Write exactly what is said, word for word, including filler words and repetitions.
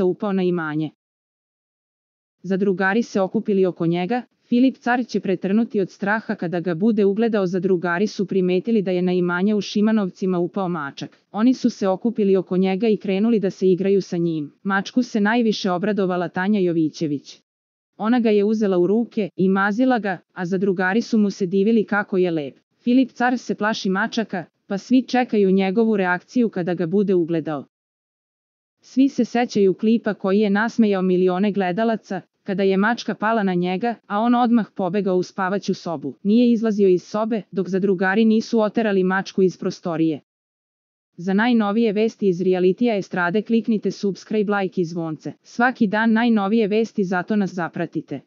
mosta upao na imanje. Zadrugari se okupili oko njega, Filip car će pretrnuti od straha kada ga bude ugledao. Zadrugari su primetili da je na imanje u Šimanovcima upao mačak. Oni su se okupili oko njega i krenuli da se igraju sa njim. Mačku se najviše obradovala Tanja Jovićević. Ona ga je uzela u ruke i mazila ga, a zadrugari su mu se divili kako je lep. Filip car se plaši mačaka, pa svi čekaju njegovu reakciju kada ga bude ugledao. Svi se sećaju klipa koji je nasmejao milione gledalaca, kada je mačka pala na njega, a on odmah pobegao u spavaću sobu. Nije izlazio iz sobe, dok zadrugari nisu oterali mačku iz prostorije. Za najnovije vesti iz realitija estrade kliknite subscribe, like i zvonce. Svaki dan najnovije vesti, zato nas zapratite.